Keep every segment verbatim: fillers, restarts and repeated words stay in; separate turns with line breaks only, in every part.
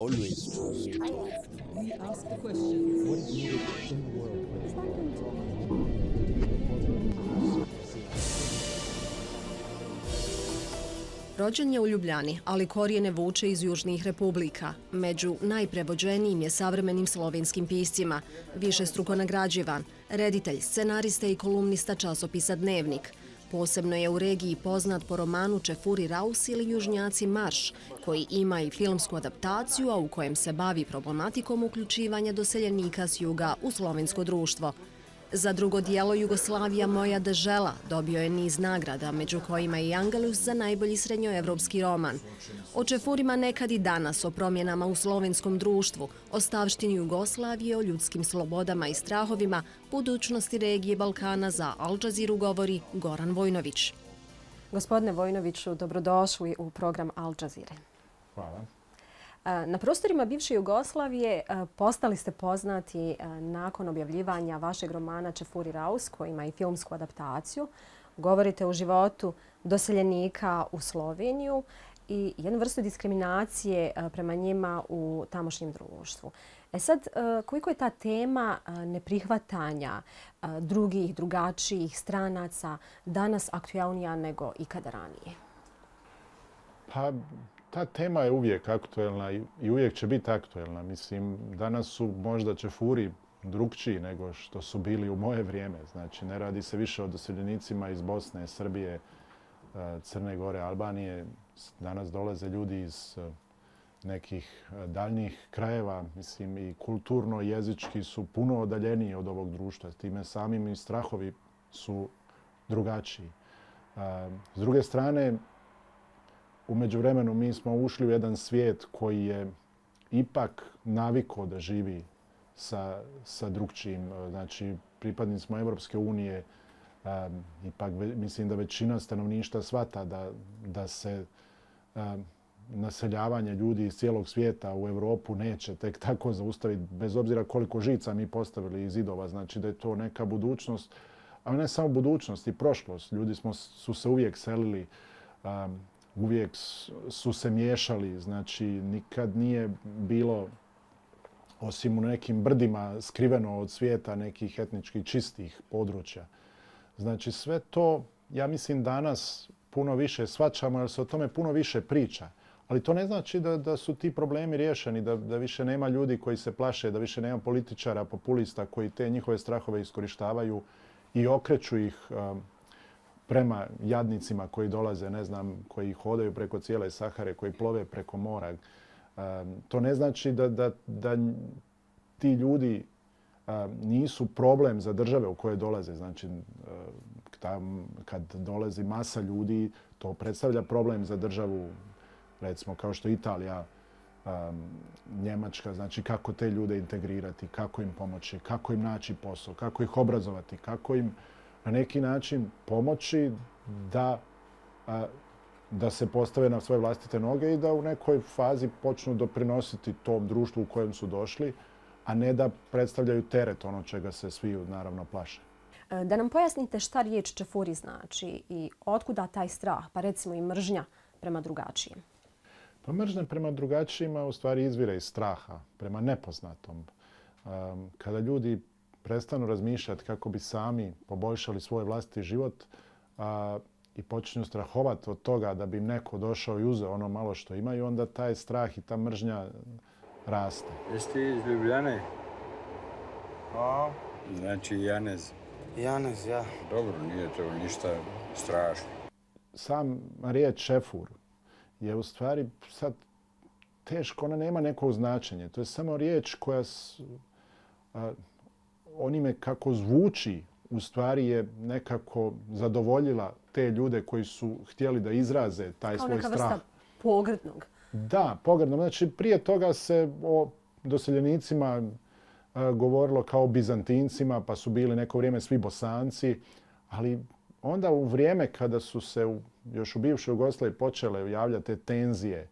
Always trust.
We ask the questions.
What is needed in the world?
Rođen je u Ljubljani, ali korijene vuče iz južnih republika. Među najprevođenijim je savremenim slovenskim piscima, višestruko nagrađivan, reditelj, scenarista i kolumnista časopisa Dnevnik. Posebno je u regiji poznat po romanu Čefuri Raus ili Južnjaci marš, koji ima i filmsku adaptaciju, a u kojem se bavi problematikom uključivanja doseljenika s juga u slovensko društvo. Za drugo dijelo Jugoslavija moja dežela dobio je niz nagrada, među kojima i Angelus za najbolji srednjoevropski roman. O Čefurima nekad i danas, o promjenama u slovenskom društvu, o stavštini Jugoslavije, o ljudskim slobodama i strahovima, budućnosti regije Balkana za Al Jazeera govori Goran Vojnović.
Gospodine Vojnoviću, dobrodošli u program Al Jazeera.
Hvala.
Na prostorima bivše Jugoslavije postali ste poznati nakon objavljivanja vašeg romana Čefuri Raus, koji ima i filmsku adaptaciju. Govorite o životu doseljenika u Sloveniju i jednu vrstu diskriminacije prema njima u tamošnjem društvu. E sad, koliko je ta tema neprihvatanja drugih, drugačijih stranaca danas aktualnija nego ikada ranije?
Pa, ta tema je uvijek aktuelna i uvijek će biti aktuelna. Mislim, danas su možda Čefuri drugčiji nego što su bili u moje vrijeme. Znači, ne radi se više o doseljenicima iz Bosne, Srbije, Crne Gore, Albanije. Danas dolaze ljudi iz nekih daljnjih krajeva. Mislim, i kulturno, jezički su puno odaljeniji od ovog društva. Time samim i strahovi su drugačiji. S druge strane, u međuvremenu mi smo ušli u jedan svijet koji je ipak navikao da živi sa, sa drugčijim. Znači, pripadnici smo Evropske unije, um, ipak ve, mislim da većina stanovništva shvata da, da se um, naseljavanje ljudi iz cijelog svijeta u Europu neće tek tako zaustaviti, bez obzira koliko žica mi postavili iz zidova. Znači da je to neka budućnost, ali ne samo budućnost i prošlost. Ljudi smo, su se uvijek selili, um, uvijek su se miješali, znači nikad nije bilo, osim u nekim brdima, skriveno od svijeta nekih etničkih čistih područja. Znači sve to, ja mislim, danas puno više shvaćamo jer se o tome puno više priča. Ali to ne znači da, da su ti problemi riješeni, da, da više nema ljudi koji se plaše, da više nema političara, populista koji te njihove strahove iskorištavaju i okreću ih um, prema jadnicima koji dolaze, ne znam, koji hodaju preko cijele Sahare, koji plove preko mora. Um, to ne znači da, da, da ti ljudi um, nisu problem za države u koje dolaze. Znači, um, tam, kad dolazi masa ljudi, to predstavlja problem za državu, recimo kao što je Italija, um, Njemačka. Znači, kako te ljude integrirati, kako im pomoći, kako im naći posao, kako ih obrazovati, kako im na neki način pomoći da, a, da se postave na svoje vlastite noge i da u nekoj fazi počnu doprinositi tom društvu u kojem su došli, a ne da predstavljaju teret ono čega se svi naravno plaše.
Da nam pojasnite šta riječ Čefuri znači i otkuda taj strah, pa recimo i mržnja prema drugačijem?
Pa mržnja prema drugačijima u stvari izvire iz straha, prema nepoznatom. Um, kada ljudi prestanu razmišljati kako bi sami poboljšali svoj vlastiti život a, i počinju strahovati od toga da bi im neko došao i uzeo ono malo što imaju, onda taj strah i ta mržnja raste.
Jesi ti iz Ljubljane?
A?
Znači Janez.
Janez, ja.
Dobro, nije to ništa strašno.
Sam riječ Čefur je u stvari sad teško, ona nema neko značenje. To je samo riječ koja s, a, onime kako zvuči u stvari je nekako zadovoljila te ljude koji su htjeli da izraze taj
kao
svoj strah.
Kao neka vrsta pogrdnog.
Da, pogrdnog. Znači prije toga se o doseljenicima a, govorilo kao Bizantincima, pa su bili neko vrijeme svi Bosanci, ali onda u vrijeme kada su se u, još u bivšoj Jugoslaviji počele javljati te tenzije,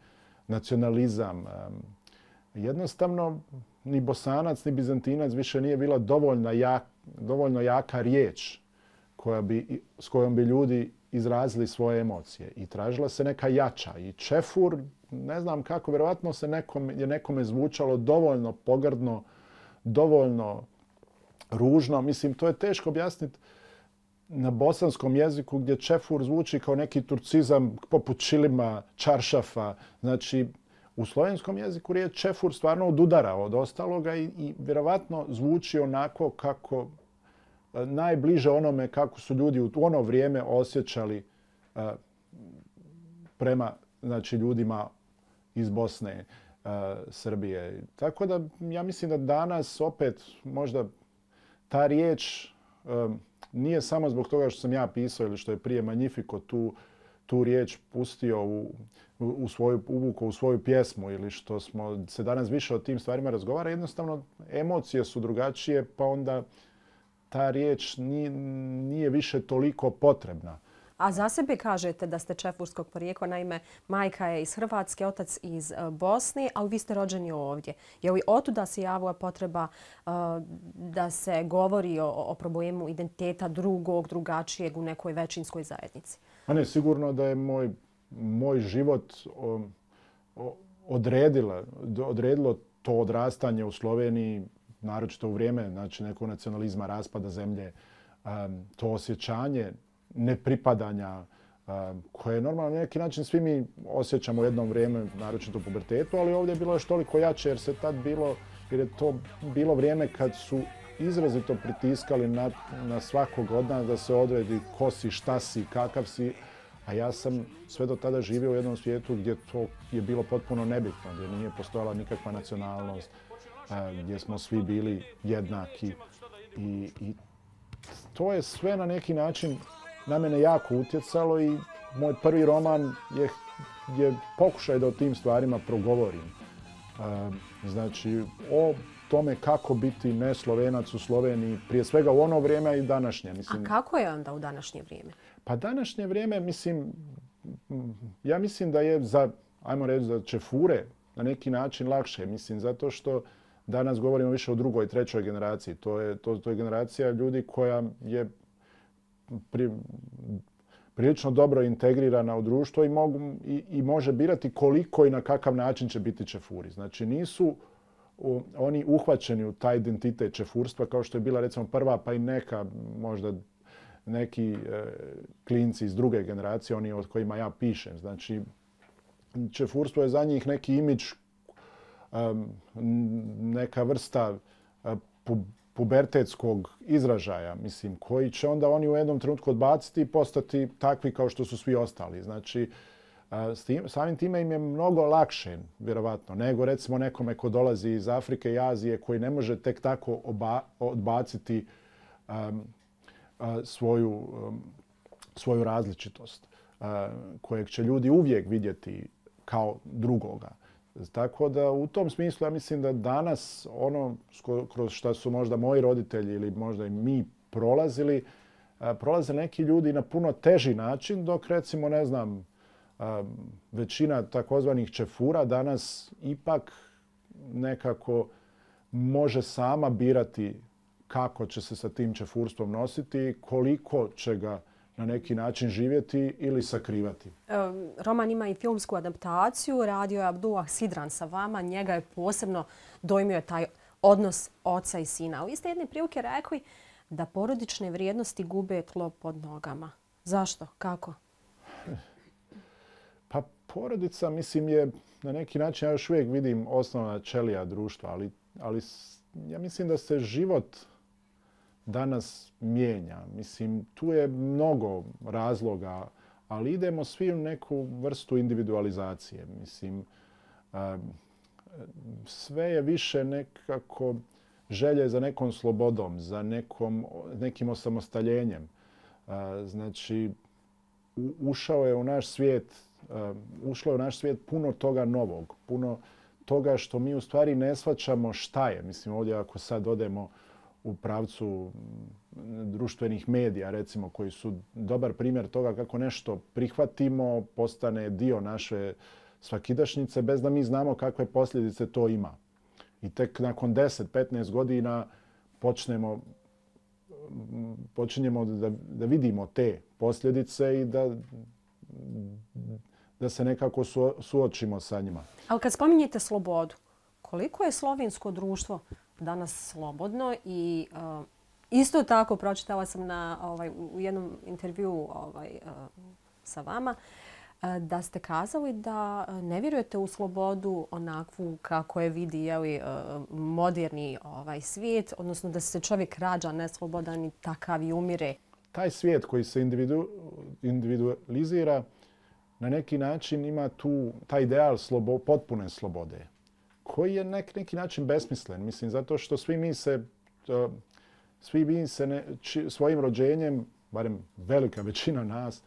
nacionalizam, a, jednostavno ni Bosanac, ni Bizantinac više nije bila dovoljno, jak, dovoljno jaka riječ koja bi, s kojom bi ljudi izrazili svoje emocije. I tražila se neka jača. I čefur, ne znam kako, vjerovatno se nekom, je nekome zvučalo dovoljno pogrdno, dovoljno ružno. Mislim, to je teško objasniti na bosanskom jeziku gdje čefur zvuči kao neki turcizam poput čilima, čaršafa. Znači, u slovenskom jeziku riječ čefur stvarno odudara od ostaloga i, i vjerovatno zvuči onako kako najbliže onome kako su ljudi u ono vrijeme osjećali uh, prema znači, ljudima iz Bosne, uh, Srbije. Tako da ja mislim da danas opet možda ta riječ um, nije samo zbog toga što sam ja pisao ili što je prije Magnifico tu, tu riječ pustio u, u svoju, uvukao u svoju pjesmu ili što smo se danas više o tim stvarima razgovara. Jednostavno emocije su drugačije pa onda ta riječ nije, nije više toliko potrebna.
A za sebe kažete da ste čefurskog porijekla, naime majka je iz Hrvatske, otac iz Bosne, ali vi ste rođeni ovdje. Je li otuda se javila potreba uh, da se govori o, o problemu identiteta drugog, drugačijeg u nekoj većinskoj zajednici?
A ne, sigurno da je moj, moj život o, o, odredila, odredilo to odrastanje u Sloveniji, naročito u vrijeme znači, nekog nacionalizma, raspada zemlje, um, to osjećanje nepripadanja um, koje normalno na neki način svi mi osjećamo u jednom vrijeme, naročito u pubertetu, ali ovdje je bilo još toliko jače jer se tad bilo, jer je to bilo vrijeme kad su izrazito pritiskali na, na svakog od nas da se odredi ko si, šta si, kakav si, a ja sam sve do tada živio u jednom svijetu gdje to je bilo potpuno nebitno, gdje nije postojala nikakva nacionalnost, gdje smo svi bili jednaki i, i to je sve na neki način na mene jako utjecalo i moj prvi roman je, je pokušaj da o tim stvarima progovorim. Znači, o tome kako biti ne Slovenac u Sloveniji, prije svega u ono vrijeme i današnje. Mislim,
a kako je onda u današnje vrijeme?
Pa današnje vrijeme, mislim, ja mislim da je za, ajmo reći, za čefure na neki način lakše. Mislim, zato što danas govorimo više o drugoj, trećoj generaciji. To je, to, to je generacija ljudi koja je pri, prilično dobro integrirana u društvo i, mogu, i, i može birati koliko i na kakav način će biti čefuri. Znači nisu u, oni uhvaćeni u taj identitet čefurstva kao što je bila recimo prva pa i neka možda neki e, klinci iz druge generacije, oni od kojima ja pišem. Znači čefurstvo je za njih neki imidž, um, neka vrsta uh, pu, pubertetskog izražaja, mislim, koji će onda oni u jednom trenutku odbaciti i postati takvi kao što su svi ostali. Znači, s tim, samim time im je mnogo lakše, vjerovatno, nego recimo nekome ko dolazi iz Afrike i Azije koji ne može tek tako oba, odbaciti um, uh, svoju, um, svoju različitost, uh, kojeg će ljudi uvijek vidjeti kao drugoga. Tako da u tom smislu ja mislim da danas ono kroz što su možda moji roditelji ili možda i mi prolazili, prolaze neki ljudi na puno teži način, dok recimo, ne znam, većina takozvanih čefura danas ipak nekako može sama birati kako će se sa tim čefurstvom nositi, koliko će ga na neki način živjeti ili sakrivati.
Roman ima i filmsku adaptaciju. Radio je Abdullah Sidran sa vama. Njega je posebno dojmio taj odnos oca i sina. Ali vi ste jedne prilike rekli da porodične vrijednosti gube tlo pod nogama. Zašto? Kako?
Pa porodica, mislim, je na neki način, ja još uvijek vidim osnovna ćelija društva, ali, ali ja mislim da se život danas mijenja. Mislim, tu je mnogo razloga, ali idemo svi u neku vrstu individualizacije. Mislim, sve je više nekako želje za nekom slobodom, za nekom, nekim osamostaljenjem. Znači, ušao je u naš svijet, ušlo je u naš svijet puno toga novog, puno toga što mi u stvari ne shvaćamo šta je. Mislim, ovdje ako sad odemo u pravcu društvenih medija, recimo, koji su dobar primjer toga kako nešto prihvatimo, postane dio naše svakidašnjice, bez da mi znamo kakve posljedice to ima. I tek nakon deset do petnaest godina počnemo počinjemo da, da vidimo te posljedice i da, da se nekako su, suočimo sa njima.
Ali kad spominjete slobodu, koliko je slovensko društvo danas slobodno i uh, isto tako pročitala sam na, ovaj, u jednom intervjuu ovaj, uh, sa vama uh, da ste kazali da ne vjerujete u slobodu onakvu kako je vidi jeli, uh, moderni ovaj, svijet, odnosno da se čovjek rađa neslobodan i takav i umire.
Taj svijet koji se individu, individualizira na neki način ima tu taj ideal slobo, potpune slobode koji je nek, neki način besmislen. Mislim, zato što svi mi se, uh, svi mi se ne, či, svojim rođenjem, barem velika većina nas,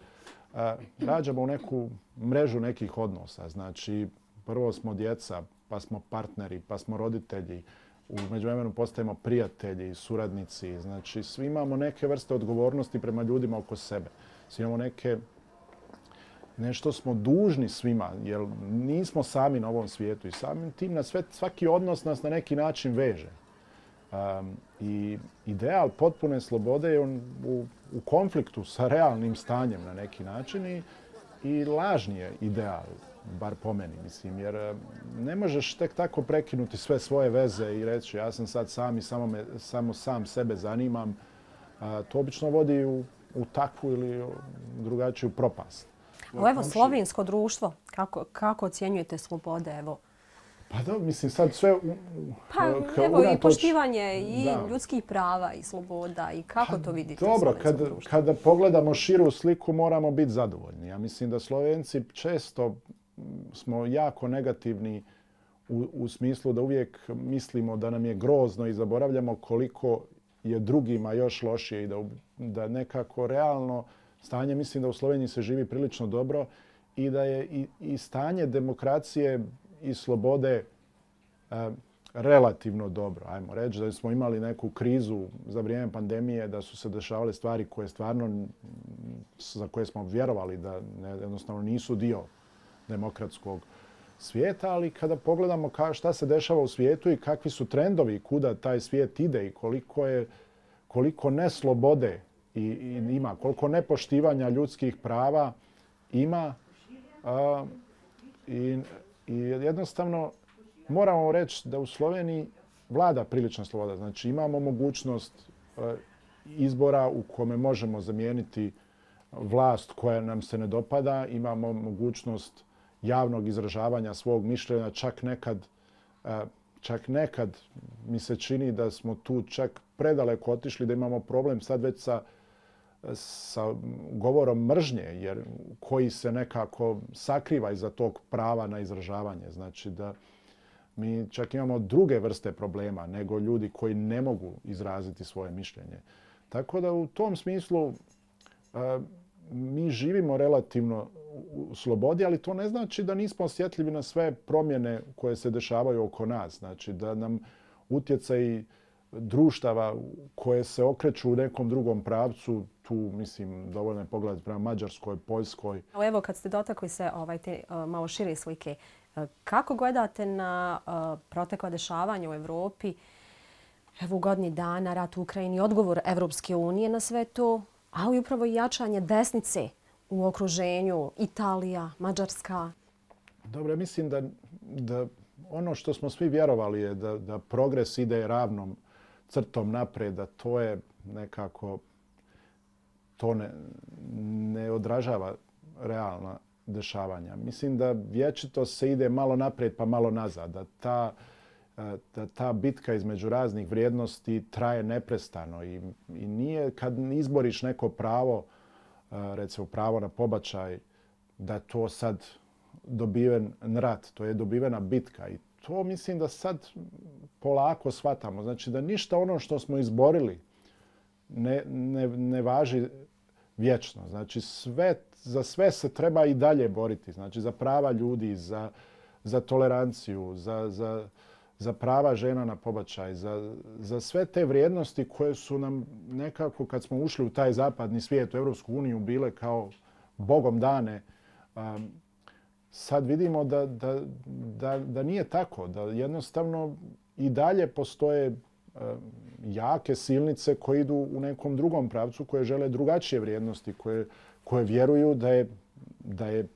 uh, rađamo u neku mrežu nekih odnosa. Znači, prvo smo djeca, pa smo partneri, pa smo roditelji, u međuvremenu postajemo prijatelji, suradnici. Znači, svi imamo neke vrste odgovornosti prema ljudima oko sebe. Svi imamo neke nešto smo dužni svima, jer nismo sami na ovom svijetu i samim tim na sve, svaki odnos nas na neki način veže. Um, I ideal potpune slobode je on u, u konfliktu sa realnim stanjem na neki način i, i lažni je ideal, bar po meni, mislim, jer ne možeš tek tako prekinuti sve svoje veze i reći ja sam sad sam i samo, me, samo sam sebe zanimam. Uh, to obično vodi u, u takvu ili drugačiju propast.
O, evo, slovensko društvo, kako, kako ocjenjujete slobode, evo?
Pa da, mislim, sad sve... U,
pa evo, unatoč, i poštivanje i da. ljudskih prava i sloboda i kako pa, to vidite
dobro,
u slovenskom
kad,
društvu?
Kada pogledamo širu sliku, moramo biti zadovoljni. Ja mislim da Slovenci često smo jako negativni u, u smislu da uvijek mislimo da nam je grozno i zaboravljamo koliko je drugima još lošije i da, da nekako realno stanje, mislim da u Sloveniji se živi prilično dobro i da je i, i stanje demokracije i slobode e, relativno dobro. Ajmo reći da smo imali neku krizu za vrijeme pandemije, da su se dešavale stvari koje stvarno, za koje smo vjerovali da ne, jednostavno nisu dio demokratskog svijeta, ali kada pogledamo ka, šta se dešava u svijetu i kakvi su trendovi, kuda taj svijet ide i koliko je koliko neslobode i, i ima, koliko nepoštivanja ljudskih prava ima a, i, i jednostavno moramo reći da u Sloveniji vlada prilična sloboda. Znači imamo mogućnost a, izbora u kome možemo zamijeniti vlast koja nam se ne dopada, imamo mogućnost javnog izražavanja svog mišljenja, čak nekad, a, čak nekad mi se čini da smo tu čak predaleko otišli, da imamo problem sad već sa sa govorom mržnje, jer koji se nekako sakriva iza tog prava na izražavanje. Znači da mi čak imamo druge vrste problema nego ljudi koji ne mogu izraziti svoje mišljenje. Tako da u tom smislu a, mi živimo relativno u slobodi, ali to ne znači da nismo osjetljivi na sve promjene koje se dešavaju oko nas. Znači da nam utjecaj društava koje se okreću u nekom drugom pravcu, tu mislim dovoljno je pogledati prema Mađarskoj, Poljskoj.
Evo kad ste dotakli se ovaj, te uh, malo šire slike, uh, kako gledate na uh, protekla dešavanja u Evropi, evo u godini dana, rat u Ukrajini, odgovor Evropske unije na sve to, ali upravo i jačanje desnice u okruženju, Italija, Mađarska?
Dobro, mislim da, da ono što smo svi vjerovali je da, da progres ide ravnom crtom napred, da to je nekako, to ne, ne odražava realna dešavanja. Mislim da vječito se ide malo naprijed pa malo nazad, da ta, da ta bitka između raznih vrijednosti traje neprestano i, i nije kad izboriš neko pravo, recimo pravo na pobačaj, da to sad dobiven rat, to je dobivena bitka i to mislim da sad polako shvatamo. Znači da ništa ono što smo izborili ne, ne, ne važi vječno. Znači sve, za sve se treba i dalje boriti. Znači za prava ljudi, za, za toleranciju, za, za, za prava žena na pobačaj, za, za sve te vrijednosti koje su nam nekako kad smo ušli u taj zapadni svijet, u Europsku uniju, bile kao bogom dane. Um, sad vidimo da, da, da, da nije tako, da jednostavno i dalje postoje uh, jake silnice koje idu u nekom drugom pravcu, koje žele drugačije vrijednosti, koje, koje vjeruju da je, da je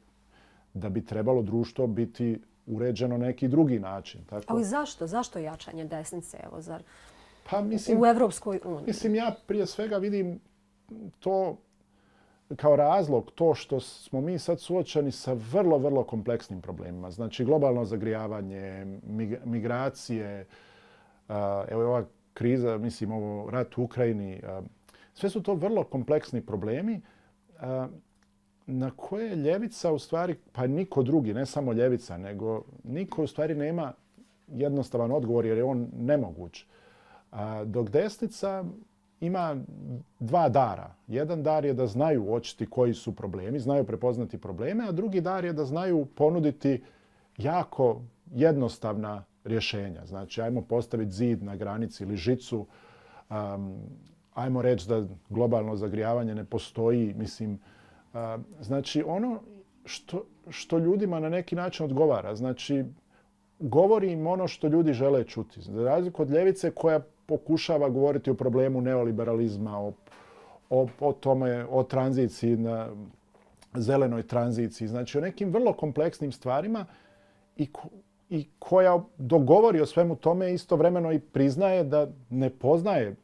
da bi trebalo društvo biti uređeno neki drugi način. Tako?
Ali zašto? Zašto jačanje desnice? Evo, zar
pa, mislim,
u Evropskoj uniji?
Mislim, ja prije svega vidim to kao razlog to što smo mi sad suočeni sa vrlo, vrlo kompleksnim problemima. Znači, globalno zagrijavanje, migracije, evo ova kriza, mislim, ovo rat u Ukrajini. Sve su to vrlo kompleksni problemi na koje ljevica u stvari, pa niko drugi, ne samo ljevica, nego niko u stvari nema jednostavan odgovor jer je on nemoguć. Dok desnica ima dva dara. Jedan dar je da znaju uočiti koji su problemi, znaju prepoznati probleme, a drugi dar je da znaju ponuditi jako jednostavna rješenja. Znači, ajmo postaviti zid na granici ili žicu, um, ajmo reći da globalno zagrijavanje ne postoji. Mislim, uh, znači, ono što, što ljudima na neki način odgovara. Znači, govori im ono što ljudi žele čuti. Za razliku od ljevice koja pokušava govoriti o problemu neoliberalizma, o, o, o tome, o tranziciji, na zelenoj tranziciji. Znači, o nekim vrlo kompleksnim stvarima i, ko, i koja dogovori o svemu tome istovremeno i priznaje da ne poznaje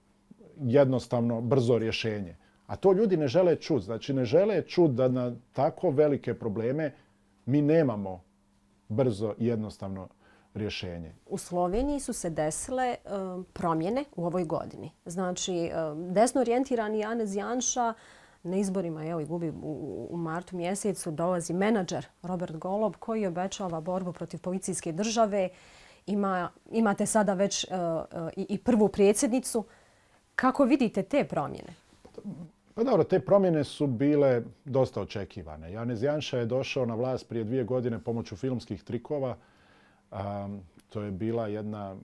jednostavno brzo rješenje. A to ljudi ne žele čuti. Znači, ne žele čuti da na tako velike probleme mi nemamo brzo i jednostavno rješenje.
U Sloveniji su se desile um, promjene u ovoj godini. Znači, um, desno orijentirani Janez Janša na izborima je gubi u, u martu mjesecu, dolazi menadžer Robert Golob koji obećava borbu protiv policijske države. Ima, imate sada već uh, uh, i, i prvu predsjednicu. Kako vidite te promjene?
Pa dobro, te promjene su bile dosta očekivane. Janez Janša je došao na vlast prije dvije godine pomoću filmskih trikova. Um, to je bila jedna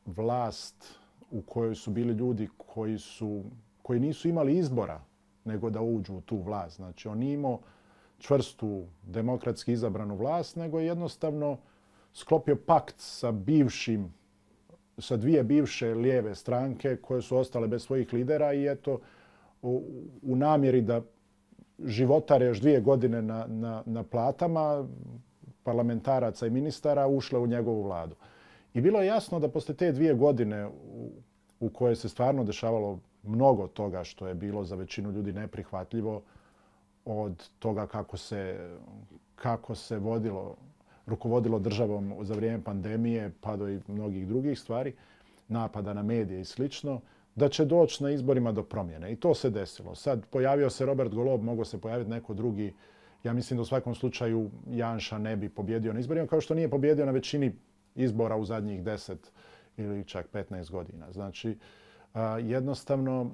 vlast u kojoj su bili ljudi koji, su, koji nisu imali izbora nego da uđu u tu vlast. Znači, on nije imao čvrstu demokratski izabranu vlast, nego je jednostavno sklopio pakt sa bivšim, sa dvije bivše lijeve stranke koje su ostale bez svojih lidera i eto, u, u namjeri da životare još dvije godine na, na, na platama, parlamentaraca i ministara ušle u njegovu vladu. I bilo je jasno da posle te dvije godine u, u koje se stvarno dešavalo mnogo toga što je bilo za većinu ljudi neprihvatljivo, od toga kako se, kako se vodilo, rukovodilo državom za vrijeme pandemije pa do i mnogih drugih stvari, napada na medije i slično, da će doći na izborima do promjene. I to se desilo. Sad pojavio se Robert Golob, mogao se pojaviti neko drugi. Ja mislim da u svakom slučaju Janša ne bi pobjedio na izborima, kao što nije pobjedio na većini izbora u zadnjih deset ili čak petnaest godina. Znači, jednostavno,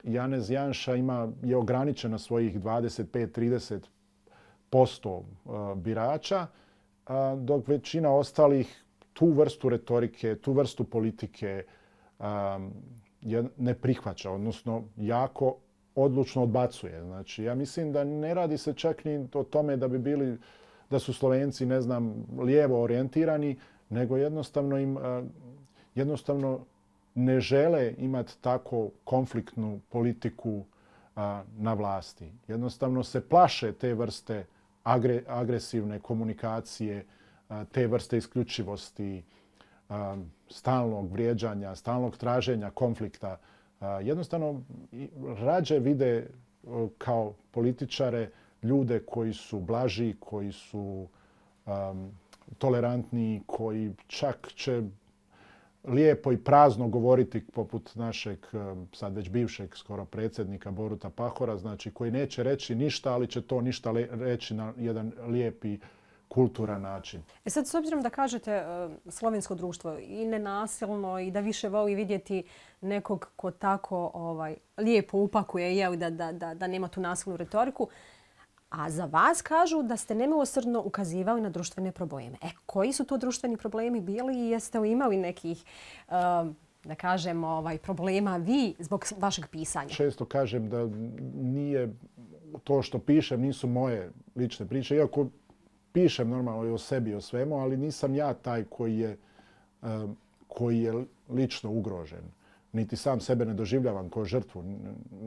Janez Janša ima, je ograničen na svojih dvadeset pet do trideset posto birača, dok većina ostalih tu vrstu retorike, tu vrstu politike ne prihvaća, odnosno jako odlučno odbacuje. Znači, ja mislim da ne radi se čak ni o tome da bi bili, da su Slovenci, ne znam, lijevo orijentirani, nego jednostavno im, jednostavno ne žele imati tako konfliktnu politiku na vlasti. Jednostavno se plaše te vrste agre, agresivne komunikacije, te vrste isključivosti, stalnog vrijeđanja, stalnog traženja konflikta. Jednostavno rađe vide kao političare ljude koji su blaži, koji su um, tolerantni, koji čak će lijepo i prazno govoriti poput našeg, sad već bivšeg skoro predsjednika Boruta Pahora, znači koji neće reći ništa, ali će to ništa reći na jedan lijepi kulturan način.
E sad, s obzirom da kažete uh, slovensko društvo i nenasilno i da više voli vidjeti nekog ko tako ovaj, lijepo upakuje, jel, da, da, da, da nema tu nasilnu retoriku, a za vas kažu da ste nemilosrdno ukazivali na društvene probleme. E, koji su to društveni problemi bili i jeste li imali nekih, uh, da kažem, ovaj, problema vi zbog vašeg pisanja?
Često kažem da nije to što pišem, nisu moje lične priče, iako pišem normalno i o sebi i o svemu, ali nisam ja taj koji je, koji je lično ugrožen. niti sam sebe ne doživljavam kao žrtvu.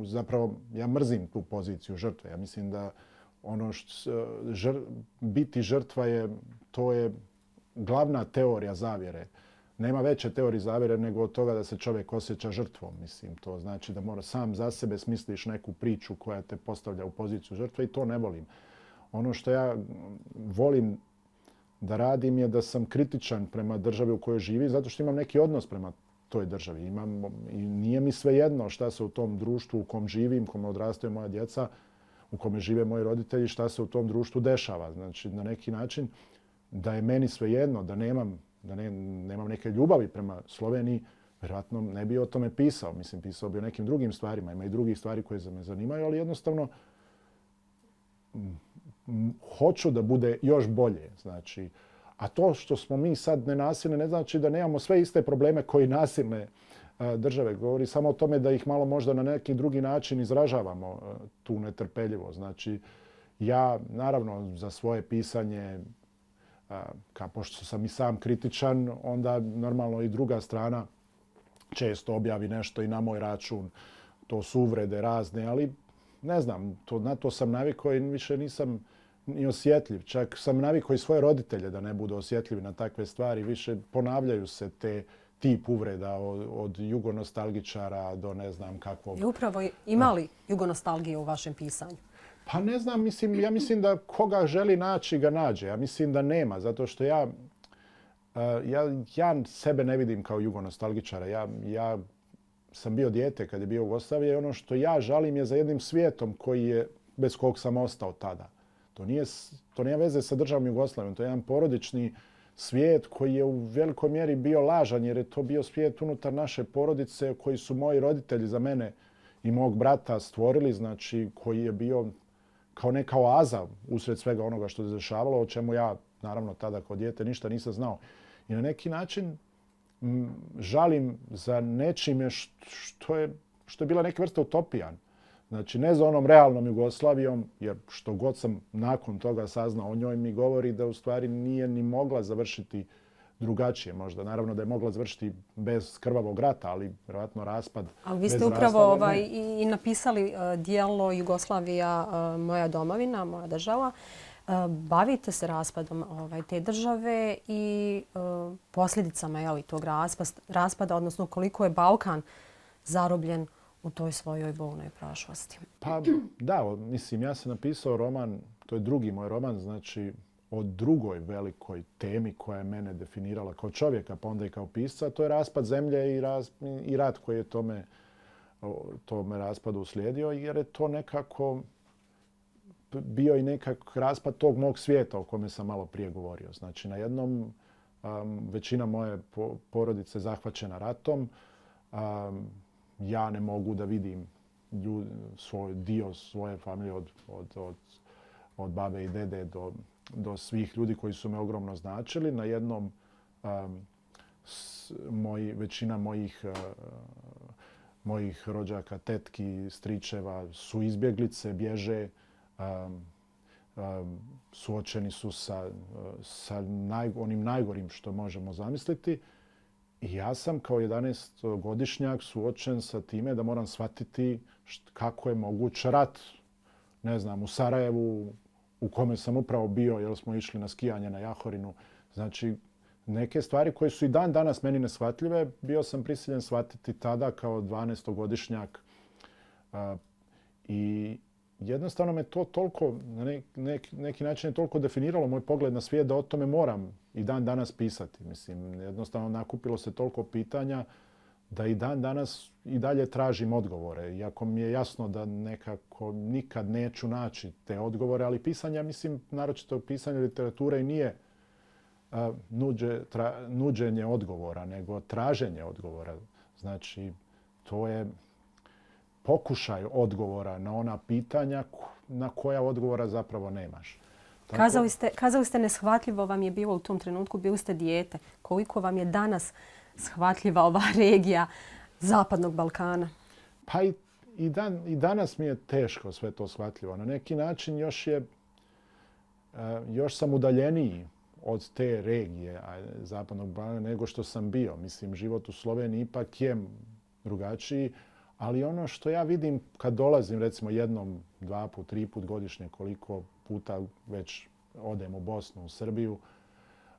Zapravo, ja mrzim tu poziciju žrtve. Ja mislim da ono što, žr, biti žrtva je, to je glavna teorija zavjere. Nema veće teorije zavjere nego od toga da se čovjek osjeća žrtvom. Mislim, to znači da mora sam za sebe smisliš neku priču koja te postavlja u poziciju žrtve i to ne volim. Ono što ja volim da radim je da sam kritičan prema državi u kojoj živi zato što imam neki odnos prema toj državi. Imam, i nije mi svejedno šta se u tom društvu u kom živim, u kom odrastaju moja djeca, u kome žive moji roditelji, šta se u tom društvu dešava. Znači, na neki način da je meni svejedno, da nemam, da ne, nemam neke ljubavi prema Sloveniji, vjerojatno ne bi o tome pisao. Mislim, pisao bi o nekim drugim stvarima. Ima i drugih stvari koje me zanimaju, ali jednostavno hoću da bude još bolje. Znači, a to što smo mi sad nenasilni ne znači da nemamo sve iste probleme koji nasilne države. Govori samo o tome da ih malo možda na neki drugi način izražavamo tu netrpeljivo. Znači, ja naravno za svoje pisanje, kao pošto sam i sam kritičan, onda normalno i druga strana često objavi nešto i na moj račun. To su uvrede razne, ali ne znam, to, na to sam navikao i više nisam ni osjetljiv. Čak sam navikao i svoje roditelje da ne budu osjetljivi na takve stvari. Više ponavljaju se te tip uvreda od, od jugonostalgičara do ne znam kakvog.
I upravo imali jugonostalgije u vašem pisanju?
Pa ne znam, mislim, ja mislim da koga želi naći ga nađe. Ja mislim da nema, zato što ja, ja, ja sebe ne vidim kao jugonostalgičara. Ja, ja sam bio dijete kad je bio Jugoslavija i ono što ja žalim je za jednim svijetom koji je, bez kog sam ostao tada. To nije, to nije veze sa državom Jugoslavijom. To je jedan porodični svijet koji je u velikoj mjeri bio lažan jer je to bio svijet unutar naše porodice koji su moji roditelji za mene i mog brata stvorili, znači koji je bio kao neka oaza usred svega onoga što se dešavalo, o čemu ja naravno tada kao dijete ništa nisam znao. I na neki način m, žalim za nečime što je, što je bila neka vrsta utopijan. Znači, ne za onom realnom Jugoslavijom, jer što god sam nakon toga saznao o njoj mi govori da u stvari nije ni mogla završiti drugačije možda. Naravno da je mogla završiti bez krvavog rata, ali vjerojatno raspad.
Ali vi ste upravo ovaj, i napisali uh, dijelo Jugoslavija, uh, moja domovina, moja država. Uh, bavite se raspadom ovaj, te države i uh, posljedicama jeli, tog raspada, raspada, odnosno koliko je Balkan zarobljen u toj svojoj bolnoj prošlosti.
Pa da, mislim, ja sam napisao roman, to je drugi moj roman, znači o drugoj velikoj temi koja je mene definirala kao čovjeka, pa onda i kao pisca, to je raspad zemlje i, raz, i rat koji je tome, tome raspadu uslijedio, jer je to nekako bio i nekak raspad tog mog svijeta o kome sam malo prije govorio. Znači, na jednom um, većina moje porodice zahvaćena ratom, um, ja ne mogu da vidim ljud, svoj dio svoje familije od, od, od, od babe i dede do, do svih ljudi koji su me ogromno značili. Na jednom um, s, moji, većina mojih, uh, mojih rođaka, tetki, stričeva su izbjeglice, bježe, um, um, suočeni su sa, sa naj, onim najgorim što možemo zamisliti. I ja sam kao jedanaestogodišnjak suočen sa time da moram shvatiti št, kako je moguć rat. Ne znam, u Sarajevu, u kome sam upravo bio, jer smo išli na skijanje na Jahorinu. Znači, neke stvari koje su i dan danas meni neshvatljive, bio sam prisiljen shvatiti tada kao dvanaestogodišnjak. Uh, I jednostavno me to toliko, na nek, nek, neki način je toliko definiralo moj pogled na svijet da o tome moram i dan danas pisati. Mislim, jednostavno nakupilo se toliko pitanja da i dan danas i dalje tražim odgovore. Iako mi je jasno da nekako nikad neću naći te odgovore, ali pisanja, mislim, naročito pisanje literature i nije uh, nuđe, tra, nuđenje odgovora, nego traženje odgovora. Znači, to je pokušaj odgovora na ona pitanja na koja odgovora zapravo nemaš.
Tako... Kazali ste, kazali ste neshvatljivo vam je bilo u tom trenutku, bili ste dijete. Koliko vam je danas shvatljiva ova regija Zapadnog Balkana?
Pa i, i, dan, i danas mi je teško sve to shvatljivo. Na neki način još, je, još sam udaljeniji od te regije Zapadnog Balkana nego što sam bio. Mislim, život u Sloveniji ipak je drugačiji. Ali ono što ja vidim kad dolazim recimo jednom, dva put, tri put godišnje, koliko puta već odem u Bosnu, u Srbiju,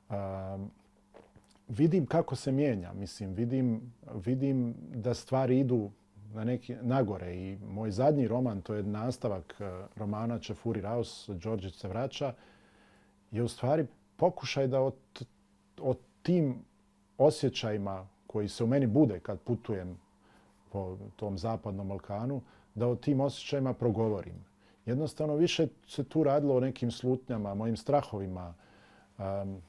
um, vidim kako se mijenja. Mislim, vidim, vidim da stvari idu na neki, nagore. I moj zadnji roman, to je nastavak romana Čefuri Raus, Đorđić se vraća, je u stvari pokušaj da o, o tim osjećajima koji se u meni bude kad putujem po tom zapadnom Balkanu, da o tim osjećajima progovorim. Jednostavno više se tu radilo o nekim slutnjama, mojim strahovima. Um,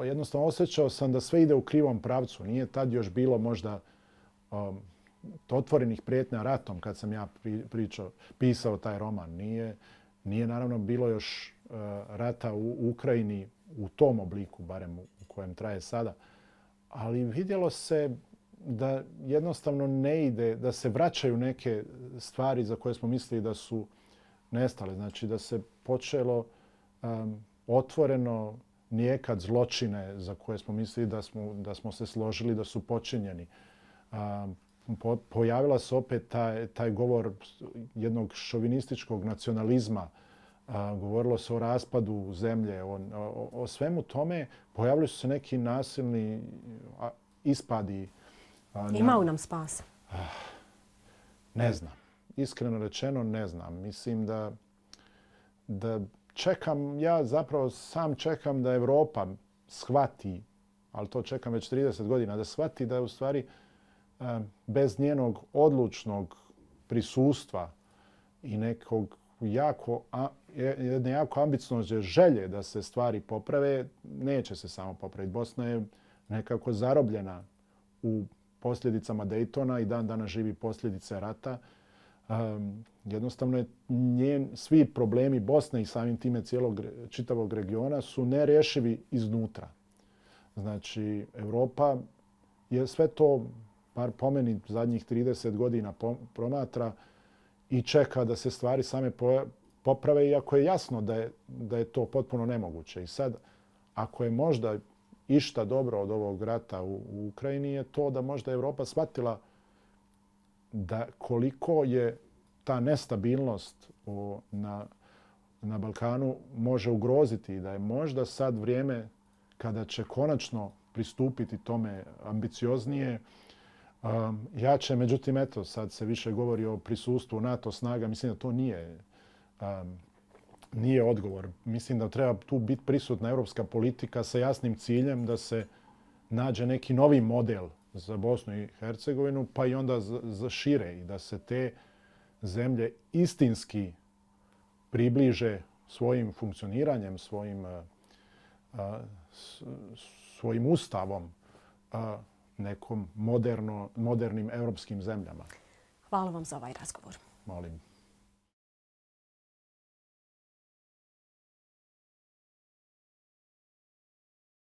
jednostavno osjećao sam da sve ide u krivom pravcu. Nije tad još bilo možda um, otvorenih prijetnja ratom kad sam ja pričao, pisao taj roman. Nije, nije naravno bilo još uh, rata u Ukrajini u tom obliku, barem u kojem traje sada. Ali vidjelo se da jednostavno ne ide, da se vraćaju neke stvari za koje smo mislili da su nestale. Znači da se počelo um, otvoreno nijekad zločine za koje smo mislili da smo, da smo se složili da su počinjeni. Um, po, pojavila se opet taj, taj govor jednog šovinističkog nacionalizma. Uh, govorilo se o raspadu zemlje, o, o, o svemu tome. Pojavili su se neki nasilni a, ispadi.
Ima li nam spasa?
Ne znam. Iskreno rečeno ne znam. Mislim da, da čekam, ja zapravo sam čekam da Evropa shvati, ali to čekam već trideset godina, da shvati da je u stvari bez njenog odlučnog prisustva i nekog jako, jedne jako ambiciozne želje da se stvari poprave, neće se samo popraviti. Bosna je nekako zarobljena u posljedicama Daytona i dan danas živi posljedice rata. Um, jednostavno je njen, svi problemi Bosne i samim time cijelog čitavog regiona su nerješivi iznutra. Znači, Evropa je sve to, bar po meni, zadnjih trideset godina promatra i čeka da se stvari same poprave, iako je jasno da je, da je to potpuno nemoguće. I sad, ako je možda išta dobro od ovog rata u, u Ukrajini, je to da možda Evropa shvatila da koliko je ta nestabilnost u, na, na Balkanu može ugroziti i da je možda sad vrijeme kada će konačno pristupiti tome ambicioznije, um, jače. Međutim, eto, sad se više govori o prisustvu NATO snaga. Mislim da to nije, um, nije odgovor. Mislim da treba tu biti prisutna europska politika sa jasnim ciljem da se nađe neki novi model za Bosnu i Hercegovinu, pa i onda za, za šire i da se te zemlje istinski približe svojim funkcioniranjem, svojim, a, a, svojim ustavom a, nekom moderno, modernim europskim zemljama.
Hvala vam za ovaj razgovor.
Molim.